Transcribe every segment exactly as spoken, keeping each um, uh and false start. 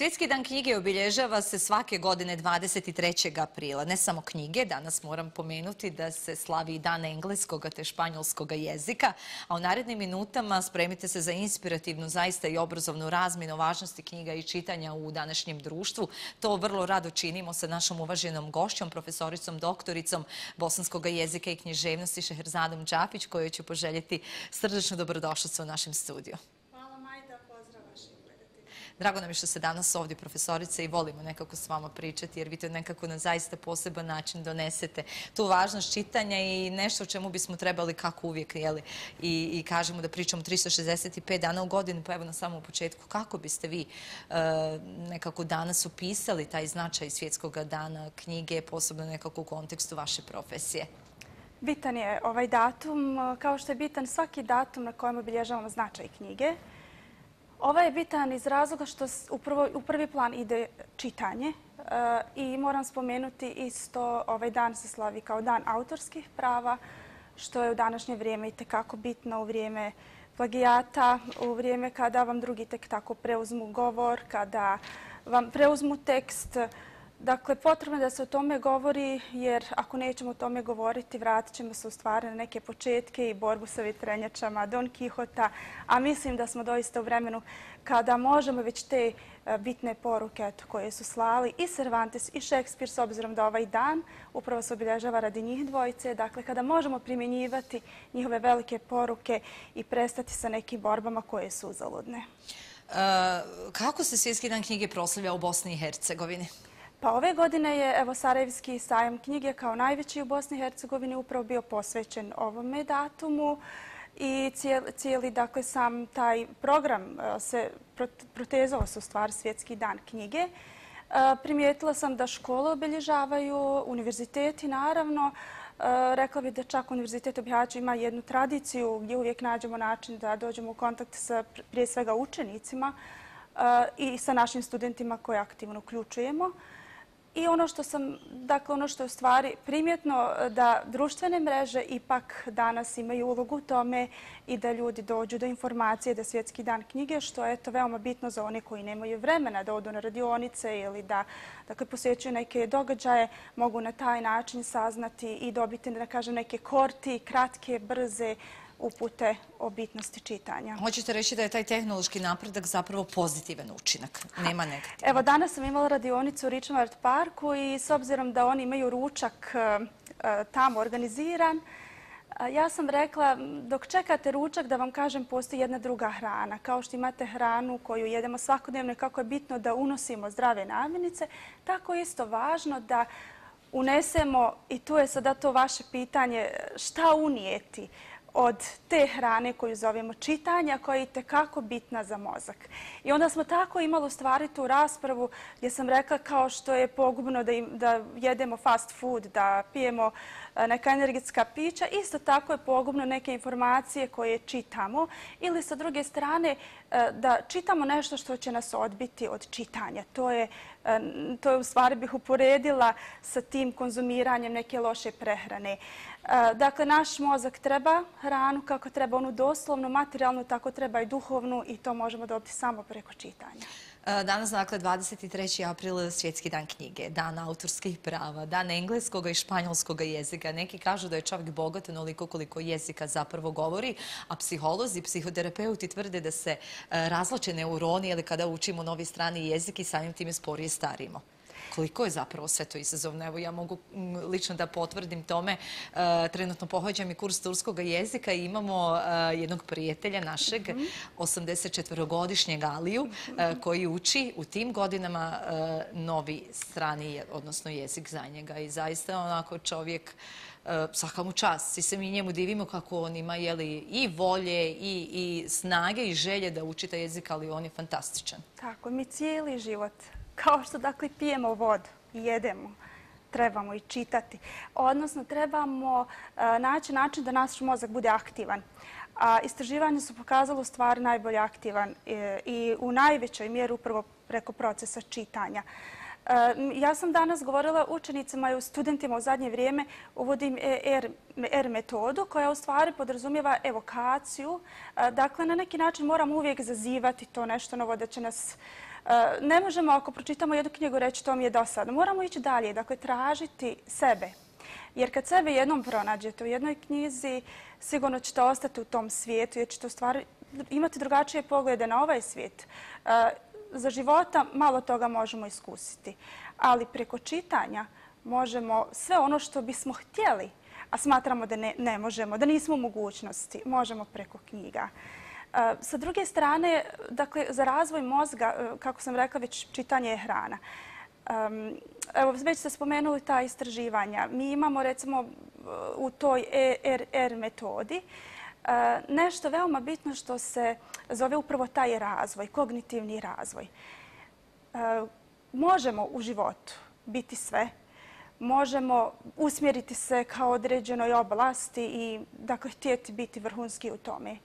Svjetski dan knjige obilježava se svake godine dvadeset trećeg aprila. Ne samo knjige, danas moram pomenuti da se slavi i dan engleskog te španjolskog jezika, a u narednim minutama spremite se za inspirativnu, zaista i obrazovnu razmjenu važnosti knjiga i čitanja u današnjem društvu. To vrlo rado činimo sa našom uvaženom gošćom, profesoricom, doktoricom bosanskog jezika i književnosti Šeherzadom Đapić, kojoj ću poželjeti srdečnu dobrodošlicu u našem studiju. Drago nam je što ste danas ovdje, profesorice, i volimo nekako s vama pričati, jer vi to nekako na zaista poseban način donesete tu važnost čitanja i nešto o čemu bismo trebali, kako uvijek, jeli, i, i kažemo da pričamo tristo šezdeset pet dana u godinu, pa evo na samom početku, kako biste vi e, nekako danas upisali taj značaj Svjetskog dana knjige, posebno nekako u kontekstu vaše profesije? Bitan je ovaj datum, kao što je bitan svaki datum na kojem obilježavamo značaj knjige. Ovaj je bitan iz razloga što u prvi plan ide čitanje i moram spomenuti isto, ovaj dan se slavi kao dan autorskih prava, što je u današnje vrijeme itekako bitno, u vrijeme plagijata, u vrijeme kada vam drugi tek tako preuzmu govor, kada vam preuzmu tekst. Dakle, potrebno je da se o tome govori, jer ako nećemo o tome govoriti, vratit ćemo se u stvari na neke početke i borbu sa vetrenjačama Don Kihota, a mislim da smo doista u vremenu kada možemo već te bitne poruke koje su slali i Cervantes i Šekspir, s obzirom da ovaj dan upravo se obilježava radi njih dvojice, dakle kada možemo primjenjivati njihove velike poruke i prestati sa nekim borbama koje su uzaludne. Kako se Svjetski dan knjige proslavlja u Bosni i Hercegovini? Pa ove godine je evo Sarajevski sajam knjige kao najveći u Bosni i Hercegovini upravo bio posvećen ovome datumu i cijeli, cijeli dakle, sam taj program se protezao se u stvari Svjetski dan knjige. Primijetila sam da škole obilježavaju, univerziteti naravno. Rekla bih da čak Univerzitet u Bihaću ima jednu tradiciju gdje uvijek nađemo način da dođemo u kontakt sa prije svega učenicima i sa našim studentima koje aktivno uključujemo. I ono što sam, dakle ono što je u stvari primjetno da društvene mreže ipak danas imaju ulogu u tome i da ljudi dođu do informacije da Svjetski dan knjige, što je to veoma bitno za one koji nemaju vremena da odu na radionice ili da dakle, posjećuju neke događaje, mogu na taj način saznati i dobiti, da kažem, neke korti, kratke, brze upute o bitnosti čitanja. Hoćete reći da je taj tehnološki napredak zapravo pozitivan učinak, nema negativan? Evo, danas sam imala radionicu u Richmond Parku i s obzirom da oni imaju ručak tamo organiziran, ja sam rekla, dok čekate ručak, da vam kažem, postoji jedna druga hrana. Kao što imate hranu koju jedemo svakodnevno i kako je bitno da unosimo zdrave namirnice, tako je isto važno da unesemo, i tu je sada to vaše pitanje, šta unijeti od te hrane koju zovemo čitanja, koja je itekako bitna za mozak. I onda smo tako imali u stvari tu raspravu gdje sam rekla kao što je pogubno da, im, da jedemo fast food, da pijemo neka energetska pića, isto tako je pogubno neke informacije koje čitamo ili sa druge strane da čitamo nešto što će nas odbiti od čitanja. To je, to je u stvari bih uporedila sa tim konzumiranjem neke loše prehrane. Dakle, naš mozak treba hranu kako treba onu doslovnu, materijalnu, tako treba i duhovnu i to možemo dobiti samo preko čitanja. Danas, dakle, dvadeset treći april, Svjetski dan knjige, dan autorskih prava, dan engleskog i španjolskog jezika. Neki kažu da je čovjek bogat onoliko koliko jezika zapravo govori, a psiholozi, psihoterapeuti tvrde da se razvlače neuroni ili kada učimo novi strani jezik i samim time sporije starimo. Koliko je zapravo sve to izazovno? Evo, ja mogu lično da potvrdim tome. Trenutno pohađam i kurs turskog jezika i imamo jednog prijatelja našeg, osamdesetčetvorogodišnjeg Aliju, koji uči u tim godinama novi strani, odnosno jezik za njega. I zaista onako čovjek, svaka mu čast. Svi se mi njemu divimo kako on ima jeli, i volje i, i snage i želje da uči taj jezik, ali on je fantastičan. Tako, mi cijeli život, kao što dakle pijemo vodu i jedemo, trebamo i čitati. Odnosno, trebamo naći način da naš mozak bude aktivan. A istraživanje su pokazalo stvar najbolje aktivan i u najvećoj mjeri upravo preko procesa čitanja. Ja sam danas govorila učenicima i studentima u zadnje vrijeme, uvodim R metodu koja u stvari podrazumijeva evokaciju. Dakle, na neki način moramo uvijek zazivati to nešto novo da će nas... Ne možemo ako pročitamo jednu knjigu reći to mi je dosadno. Moramo ići dalje, dakle tražiti sebe. Jer kad sebe jednom pronađete u jednoj knjizi, sigurno ćete ostati u tom svijetu jer ćete u stvari imati drugačije poglede na ovaj svijet. Za života malo toga možemo iskusiti, ali preko čitanja možemo sve ono što bismo htjeli, a smatramo da ne, ne možemo, da nismo u mogućnosti, možemo preko knjiga. Sa druge strane, dakle, za razvoj mozga, kako sam rekla, već čitanje je hrana. Evo, već ste spomenuli ta istraživanja. Mi imamo, recimo, u toj E R R metodi nešto veoma bitno što se zove upravo taj razvoj, kognitivni razvoj. Možemo u životu biti sve, možemo usmjeriti se kao određenoj oblasti i dakle, htjeti biti vrhunski u tome.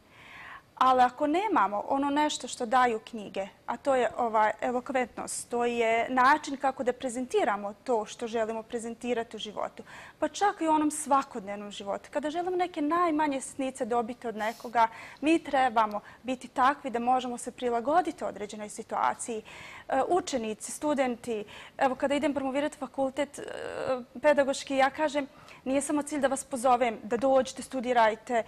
Ali ako nemamo ono nešto što daju knjige, a to je ova elokventnost, to je način kako da prezentiramo to što želimo prezentirati u životu, pa čak i u onom svakodnevnom životu. Kada želimo neke najmanje sitnice dobiti od nekoga, mi trebamo biti takvi da možemo se prilagoditi određenoj situaciji. Učenici, studenti, evo kada idem promovirati fakultet pedagoški, ja kažem, nije samo cilj da vas pozovem, da dođete, studirajte,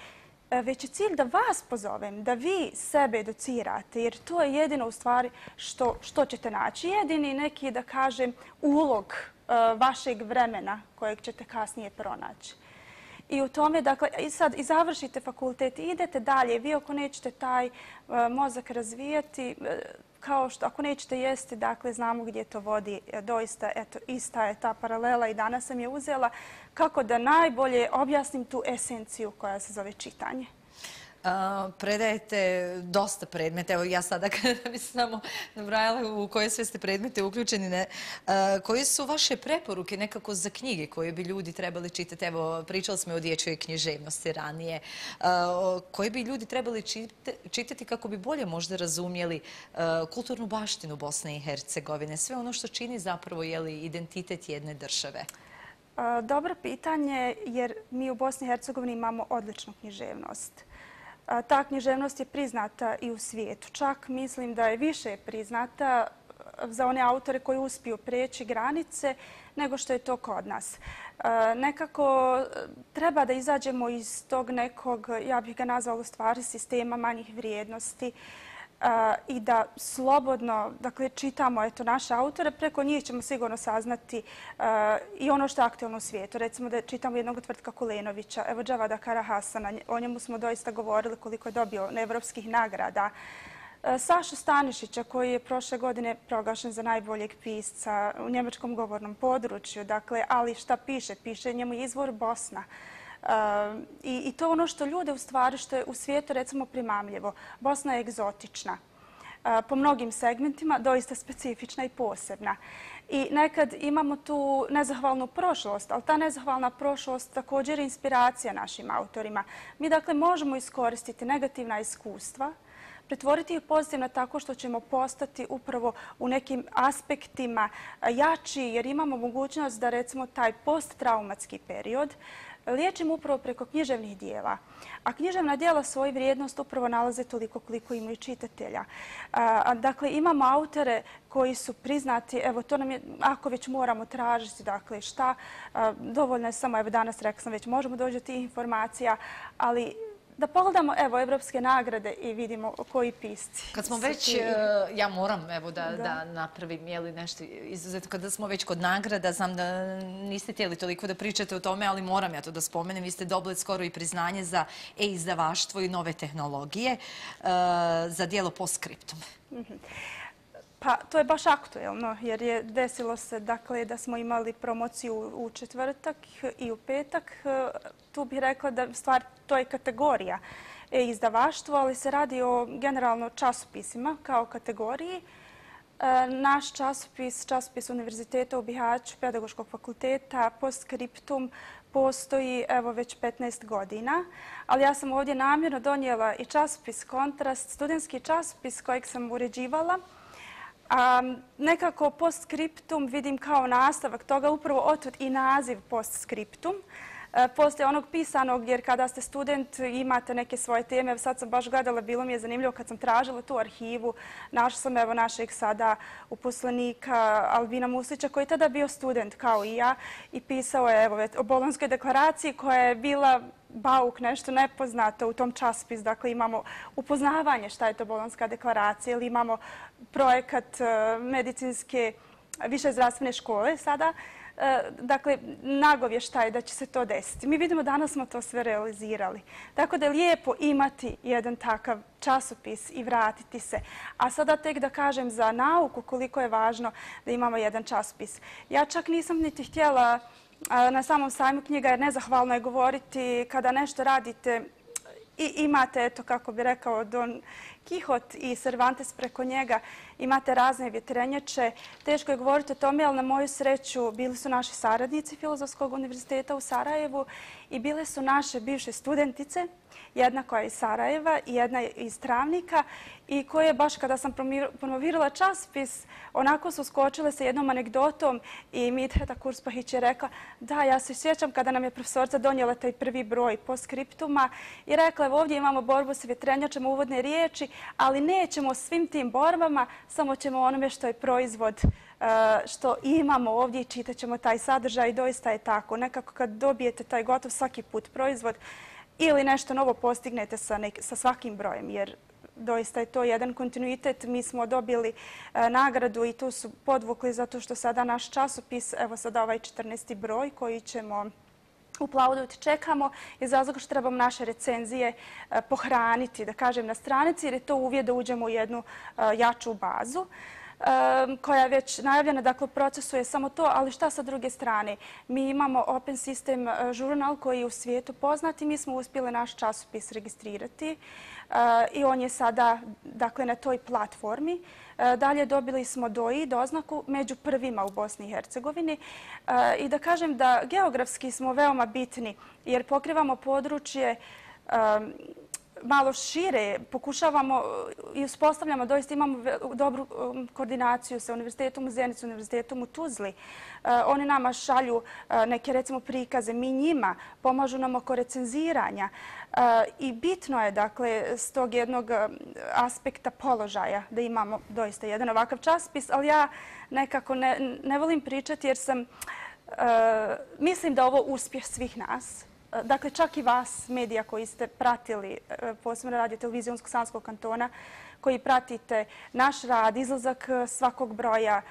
već je cilj da vas pozovem, da vi sebe educirate, jer to je jedino u stvari što, što ćete naći. Jedini neki, da kažem, ulog uh, vašeg vremena kojeg ćete kasnije pronaći. I u tome, dakle, i sad i završite fakultet i idete dalje. Vi ako nećete taj uh, mozak razvijati, uh, kao što ako nećete jesti, dakle, znamo gdje to vodi. Doista, eto, ista je ta paralela i danas sam je uzela kako da najbolje objasnim tu esenciju koja se zove čitanje. Uh, predajete dosta predmeta. Evo ja sada kada bi samo nabrajala u koje sve ste predmete uključeni. Ne? Uh, koje su vaše preporuke nekako za knjige koje bi ljudi trebali čitati? Evo, pričali smo o dječjoj književnosti ranije. Uh, koje bi ljudi trebali čitati kako bi bolje možda razumjeli uh, kulturnu baštinu Bosne i Hercegovine? Sve ono što čini zapravo jeli, identitet jedne države. Uh, dobro pitanje jer mi u Bosni i Hercegovini imamo odličnu književnost. Ta književnost je priznata i u svijetu. Čak mislim da je više priznata za one autore koji uspiju prijeći granice nego što je to kod nas. Nekako treba da izađemo iz tog nekog, ja bih ga nazvala u stvari, sistema manjih vrijednosti i da slobodno dakle, čitamo eto, naše autore. Preko njih ćemo sigurno saznati uh, i ono što je aktualno u svijetu. Recimo da čitamo jednog Tvrtka Kulenovića, evo Džavada Karahasana, o njemu smo doista govorili koliko je dobio evropskih nagrada. Uh, Sašu Stanišića koji je prošle godine proglašen za najboljeg pisca u njemačkom govornom području. Dakle, ali šta piše? Piše njemu izvor Bosna. Uh, i, I to ono što ljude u stvari, što je u svijetu recimo primamljivo. Bosna je egzotična. Uh, po mnogim segmentima, doista specifična i posebna. I nekad imamo tu nezahvalnu prošlost, ali ta nezahvalna prošlost također je inspiracija našim autorima. Mi dakle možemo iskoristiti negativna iskustva, pretvoriti ih pozitivno tako što ćemo postati upravo u nekim aspektima jači, jer imamo mogućnost da recimo taj posttraumatski period liječimo upravo preko književnih dijela. A književna dijela svoju vrijednost upravo nalaze toliko koliko imaju čitatelja. A, dakle, imamo autore koji su priznati, evo to nam je, ako već moramo tražiti, dakle šta, a, dovoljno je samo, evo danas rekla sam već, možemo doći do tih informacija, ali da pogledamo evo evropske nagrade i vidimo koji pisci. Kad smo već, ja moram evo da, da. da napravim jeli, nešto izuzetno, kada smo već kod nagrada, znam da niste htjeli toliko da pričate o tome, ali moram ja to da spomenem. Vi ste dobili skoro i priznanje za e-izdavaštvo i nove tehnologije uh, za djelo Postscriptum. Mm-hmm. Pa to je baš aktuelno jer je desilo se dakle, da smo imali promociju u četvrtak i u petak. Tu bih rekla da stvar to je kategorija e-izdavaštvo, ali se radi o generalno časopisima kao kategoriji. Naš časopis, časopis Univerziteta u Bihaću, Pedagoškog fakulteta, Postscriptum, postoji evo već petnaest godina, ali ja sam ovdje namjerno donijela i časopis Kontrast, studentski časopis kojeg sam uređivala. A nekako postscriptum vidim kao nastavak toga, upravo otud i naziv postscriptum. Poslije onog pisanog, jer kada ste student imate neke svoje teme, sad sam baš gledala, bilo mi je zanimljivo kad sam tražila tu arhivu, našla sam evo našeg sada uposlenika Albina Muslića koji je tada bio student kao i ja i pisao je evo o Bolonjskoj deklaraciji koja je bila bauk, nešto nepoznato u tom časopisu. Dakle, imamo upoznavanje šta je to Bolonjska deklaracija ili imamo projekat medicinske više zdravstvene škole sada. Dakle, nagovještaj da će se to desiti. Mi vidimo danas smo to sve realizirali. Tako da je lijepo imati jedan takav časopis i vratiti se. A sada tek da kažem za nauku koliko je važno da imamo jedan časopis. Ja čak nisam niti htjela na samom sajmu knjiga jer nezahvalno je govoriti kada nešto radite i imate, eto kako bi rekao Don Kihot i Cervantes preko njega, imate razne vjetrenjače. Teško je govoriti o tome, ali na moju sreću bili su naši saradnici Filozofskog univerziteta u Sarajevu i bile su naše bivše studentice, jedna koja je iz Sarajeva i jedna iz Travnika i koje baš kada sam promovirala časopis, onako su skočile sa jednom anegdotom i Midheta Kurspahić je rekla da, ja se sjećam kada nam je profesorca donijela taj prvi broj postscriptuma i rekla evo ovdje imamo borbu sa vjetrenjačama, uvodne riječi, ali nećemo svim tim borbama, samo ćemo onome što je proizvod što imamo ovdje i čitat ćemo taj sadržaj i doista je tako. Nekako kad dobijete taj gotov svaki put proizvod ili nešto novo postignete sa, nek, sa svakim brojem, jer doista je to jedan kontinuitet. Mi smo dobili e, nagradu i tu su podvukli zato što sada naš časopis, evo sada ovaj četrnaesti broj koji ćemo uplauditi, čekamo iz razloga što trebamo naše recenzije e, pohraniti, da kažem, na stranici jer je to uvjet da uđemo u jednu e, jaču bazu koja je već najavljena, dakle u procesu je samo to, ali šta sa druge strane? Mi imamo Open System žurnal koji je u svijetu poznat i mi smo uspjeli naš časopis registrirati i on je sada dakle, na toj platformi. Dalje dobili smo D O I, doznaku, među prvima u Bosni i Hercegovini i da kažem da geografski smo veoma bitni jer pokrivamo područje malo šire, pokušavamo i uspostavljamo, doista imamo dobru koordinaciju sa Univerzitetom u Zenici, Univerzitetom u Tuzli. Oni nama šalju neke, recimo, prikaze, mi njima pomažu nam oko recenziranja. I bitno je, dakle, s tog jednog aspekta položaja da imamo doista jedan ovakav časopis, ali ja nekako ne, ne volim pričati jer sam, mislim da ovo uspjeh svih nas. Dakle, čak i vas, medija koji ste pratili, posebno Radio televizije Unsko-Sanskog kantona, koji pratite naš rad, izlazak svakog broja,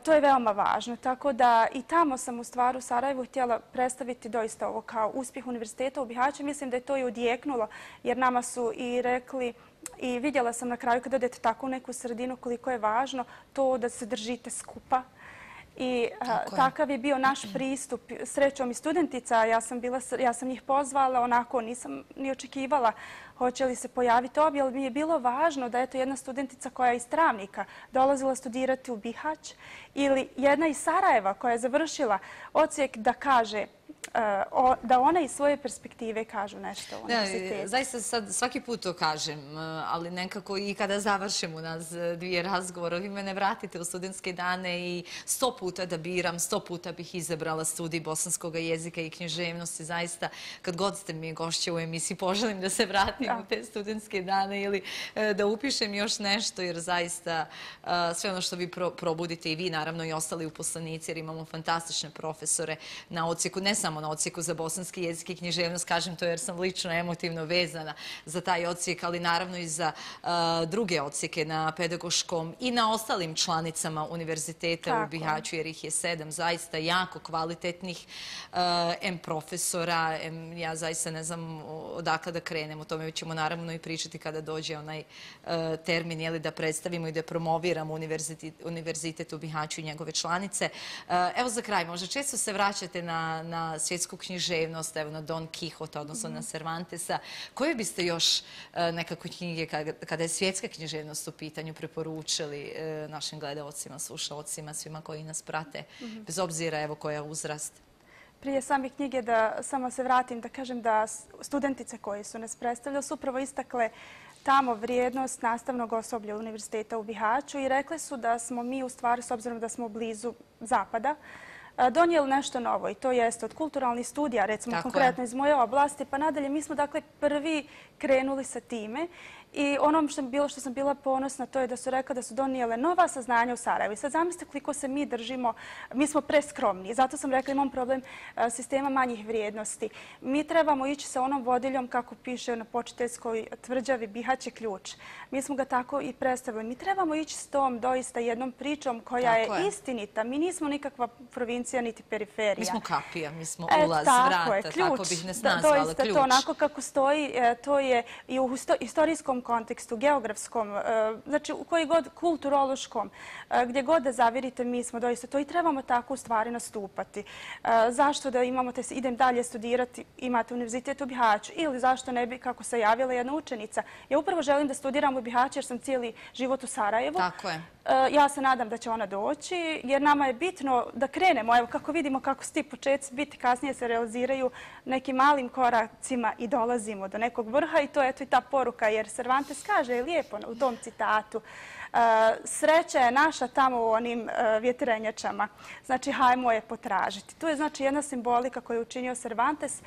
to je veoma važno. Tako da i tamo sam u stvari u Sarajevu htjela predstaviti doista ovo kao uspjeh univerziteta u Bihaću. Mislim da je to i odjeknulo jer nama su i rekli i vidjela sam na kraju kada odete tako u neku sredinu koliko je važno to da se držite skupa. I a, takav je bio naš pristup. Srećom i studentica, ja sam, bila, ja sam njih pozvala, onako nisam ni očekivala hoće li se pojaviti obje, ali mi je bilo važno da je to jedna studentica koja je iz Travnika dolazila studirati u Bihać ili jedna iz Sarajeva koja je završila odsjek da kaže da ona iz svoje perspektive kažu nešto u univerzitetu. Zaista sad svaki put to kažem, ali nekako i kada završim u nas dvije razgovora, vi mene vratite u studentske dane i sto puta da biram, sto puta bih izabrala studij bosanskog jezika i književnosti. Zaista, kad god ste mi gošće u emisiji, poželim da se vratim u te studentske dane ili da upišem još nešto, jer zaista sve ono što vi probudite i vi, naravno i ostali uposlenici, jer imamo fantastične profesore na odsjeku, ne samo na odsjeku za bosanski jezik i književnost, kažem to jer sam lično emotivno vezana za taj odsjek, ali naravno i za uh, druge odsjeke na pedagoškom i na ostalim članicama univerziteta Tako. u Bihaću, jer ih je sedam zaista jako kvalitetnih uh, em profesora, em, ja zaista ne znam odakle da krenem, o tome ćemo naravno i pričati kada dođe onaj uh, termin, jeli, da predstavimo i da promoviramo univerzitet, univerzitet u Bihaću i njegove članice. Uh, evo za kraj, možda često se vraćate na, na svjetsku književnost, evo na Don Kihota, odnosno mm. na Cervantesa. Koje biste još uh, nekako knjige kada, kada je svjetska književnost u pitanju preporučili uh, našim gledalcima, slušalcima, svima koji nas prate, mm. bez obzira evo koja je uzrast? Prije same knjige da samo se vratim da kažem da studentice koje su nas predstavljale su upravo istakle tamo vrijednost nastavnog osoblja Univerziteta u Bihaću i rekli su da smo mi u stvari, s obzirom da smo blizu zapada, donijeli nešto novo i to jeste od kulturalnih studija, recimo konkretno iz moje oblasti, pa nadalje mi smo dakle prvi krenuli sa time i ono što, bilo, što sam bila ponosna to je da su rekla da su donijele nova saznanja u Sarajevu. I sad zamislite koliko se mi držimo, mi smo preskromni, zato sam rekla imam problem sistema manjih vrijednosti. Mi trebamo ići sa onom vodiljom kako piše na počiteljskoj tvrđavi Bihać je ključ. Mi smo ga tako i predstavili. Mi trebamo ići s tom doista jednom pričom koja je, je istinita. Mi nismo nikakva provincija niti periferija. Mi smo kapija, mi smo e, ulaz, tako vrata, je, ključ, tako bih nas nazvala, doista ključ. To onako kako stoji, to je i u istorijskom kontekstu, geografskom, znači u koji god kulturološkom, gdje god da zavirite, mi smo doista to i trebamo tako u stvari nastupati. Zašto da imamo te, idem dalje studirati, imate univerzitet u Bihaću ili zašto ne bi, kako se javila jedna učenica. Ja upravo želim da studiram u Bihaću jer sam cijeli život u Sarajevu. Tako je. Ja se nadam da će ona doći jer nama je bitno da krenemo, evo kako vidimo kako su ti početci biti, kasnije se realiziraju nekim malim koracima i dolazimo do nekog vrha i to je eto i ta poruka jer Cervantes kaže lijepo u tom citatu sreća je naša tamo u onim vjetrenjačama. Znači, hajmo je potražiti. Tu je znači jedna simbolika koju je učinio Cervantes.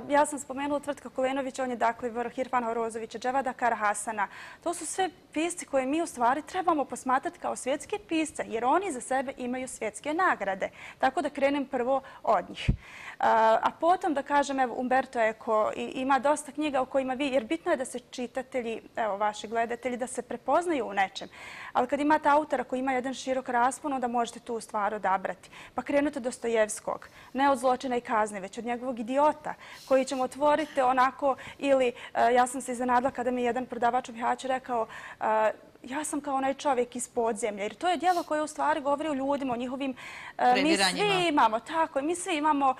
Ja sam spomenula Tvrtka Kulenović, on je dakle vrh Irfana Horozovića, Dževada Karahasana. To su sve pisci koje mi u stvari trebamo posmatrati kao svjetske pisce, jer oni za sebe imaju svjetske nagrade. Tako da krenem prvo od njih. A potom da kažem, evo, Umberto Eco ima dosta knjiga u kojima vi, jer bitno je da se čitatelji, evo, vaši gledatelji, da se prepoznaju u nečem. Ali kad imate autora koji ima jedan širok raspon, onda možete tu stvar odabrati. Pa krenute Dostojevskog, ne od Zločina i kazne, već od njegovog Idiota, koji ćemo otvoriti onako, ili ja sam se iznenadila kada mi je jedan prodavač u Bihaću rekao ja sam kao onaj čovjek iz podzemlja, jer to je djelo koje u stvari govori o ljudima, o njihovim... Mi svi imamo, tako, mi svi imamo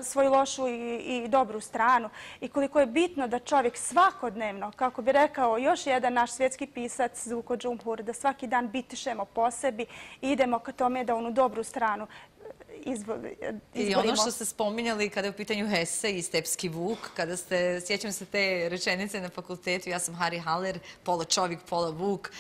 svoju lošu i, i dobru stranu i koliko je bitno da čovjek svakodnevno, kako bi rekao još jedan naš svjetski pisac Zuko Džumhur, da svaki dan bitišemo po sebi i idemo ka tome da onu dobru stranu izborimo. I ono što ste spominjali kada je u pitanju Hesse i Stepski Vuk, kada ste, sjećam se te rečenice na fakultetu, ja sam Harry Haller, pola čovjek, pola Vuk,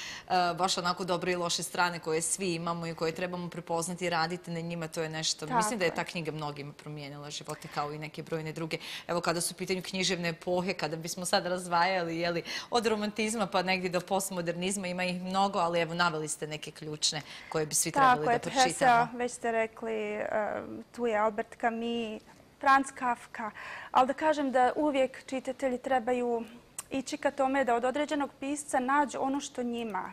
baš onako dobre i loše strane koje svi imamo i koje trebamo prepoznati i raditi na njima, to je nešto. Mislim da je ta knjiga mnogima promijenila živote kao i neke brojne druge. Evo kada su u pitanju književne epohe, kada bismo sad razvajali jeli, od romantizma pa negdje do postmodernizma, ima ih mnogo, ali evo naveli ste neke ključne koje bi svi trebali da pročitamo. Hesse, već ste rekli, tu je Albert Camus, Franz Kafka, ali da kažem da uvijek čitatelji trebaju ići ka tome da od određenog pisca nađu ono što njima.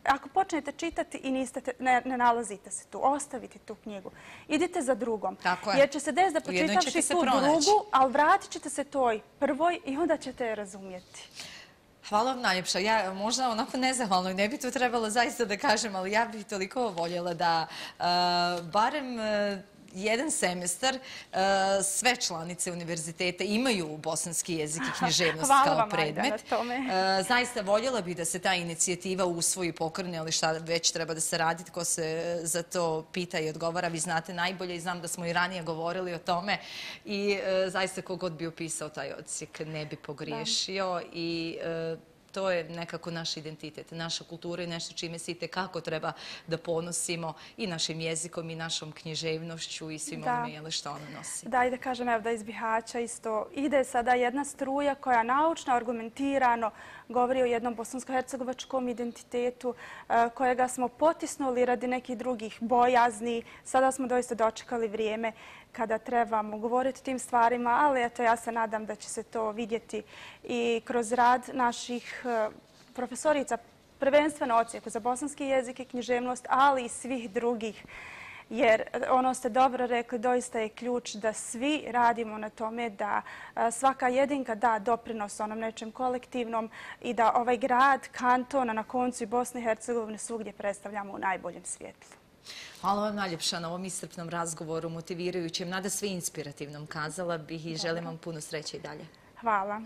Ako počnete čitati i niste, ne, ne nalazite se tu, ostavite tu knjigu. Idite za drugom. Jer će se desiti da pročitavši tu drugu, ali vratit ćete se toj prvoj i onda ćete je razumjeti. Hvala vam najljepša. Ja možda onako nezahvalno i ne bi to trebalo zaista da kažem, ali ja bih toliko voljela da barem jedan semestar sve članice univerziteta imaju bosanski jezik i književnost kao predmet. Zaista voljela bih da se ta inicijativa usvoji i pokrene, ali šta već treba da se radi, ko se za to pita i odgovara. Vi znate najbolje i znam da smo i ranije govorili o tome i zaista kogod bi upisao taj odsjek ne bi pogriješio i to je nekako naš identitet, naša kultura i nešto čime se itekako treba da ponosimo i našim jezikom i našom književnošću i svim onome što ona nosi. Da, i da kažem evo da iz Bihaća isto ide sada jedna struja koja naučno, argumentirano govori o jednom bosansko-hercegovačkom identitetu kojega smo potisnuli radi nekih drugih bojazni. Sada smo doista dočekali vrijeme kada trebamo govoriti o tim stvarima, ali eto ja se nadam da će se to vidjeti i kroz rad naših profesorica, prvenstveno odsjeku za bosanski jezik i književnost, ali i svih drugih. Jer ono ste dobro rekli, doista je ključ da svi radimo na tome da svaka jedinka da doprinos onom nečem kolektivnom i da ovaj grad, kanton, a na koncu i Bosne i Hercegovine svugdje predstavljamo u najboljem svjetlu. Hvala vam najljepša na ovom iscrpnom razgovoru, motivirajućem, nada sve inspirativnom, kazala bih i želim vam puno sreće i dalje. Hvala.